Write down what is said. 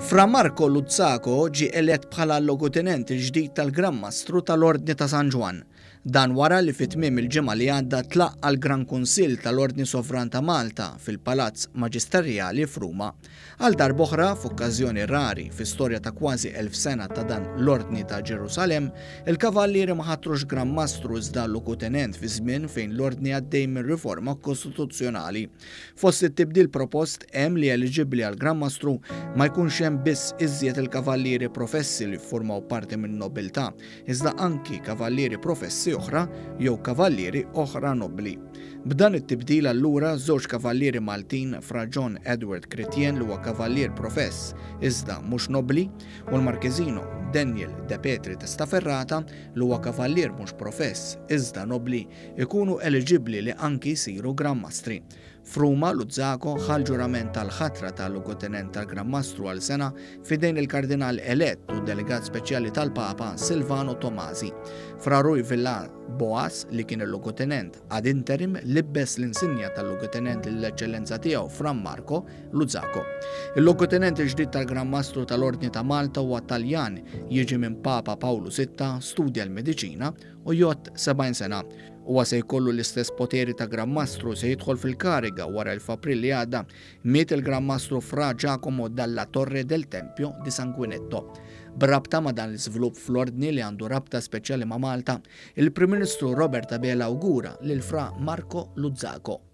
Fra Marco Luzzaco ġie elett bħala l-Logutenent il-ġdid tal-Gran Mastru tal-Ordni ta' San Ġwann. Dan wara li fi tmiem il-ġimgħa li għadda tlaqqa' l-Gran Kunsill tal-Ordni Sovran ta' Malta fil-Palazz Maġisterjali f'Ruma. Għal darb'oħra, f'okkażjoni rari fi storja ta' kważi 1000 sena ta' dan l-Ordni ta' Ġerusalemm, il-Kavallieri ma ħatrux Gran Mastru iżda Logutenent fi żmien fejn l-Ordni għaddej minn riforma kostituzzjonali. Fost it-tibdil propost hemm li eliġibbli għal Gran Mastru ma jkunx hemm biss iżjed il-kavallieri professi li ffurmaw parti min-nobiltà, iżda anki kavallieri professi oħra jew kavallieri oħra nobbli. B'dan it-tibdil allura żewġ kavallieri Maltin Fra John Edward Critien li huwa kavallier profess iżda mhux nobbli u l-Marchesino Daniel De Petri Testaferrata li huwa kavallier mhux profess iżda nobbli ikunu eliġibbli li anki jsiru Gran Mastri. F'Ruma, Luzzaco ħa l-ġurament tal-ħatra ta' Logotenent tal-Gran Mastru għal sena f'idejn il-Kardinal elett u delegat speċjali tal-Papa Silvano Tomasi. Fra Rui Villar Boas, li kien il-Logotenent ad interim, libbes l-insinja tal-Logotenent lill-Eċċellenza Tiegħu Fra Marco Luzzaco. Il-Logotenent il-ġdid tal-Gran Mastru tal-Ordni ta' Malta huwa Taljan, jiġi minn Papa Pawlu Sitta, studja l-mediċina u jgħodd 70 sena. Huwa se jkollu l-istess poteri ta' Gran Mastru se jidħol fil-kariga wara li f'April li għadda miet il-Gran Mastru Fra Giacomo dalla Torre del Tempio di Sanguinetto. B'rabta ma' dan l-iżvilupp fl-Ordni li għandu rabta speċjali ma' Malta, il-Prim Ministru Robert Abela awgura lil Fra Marco Luzzaco.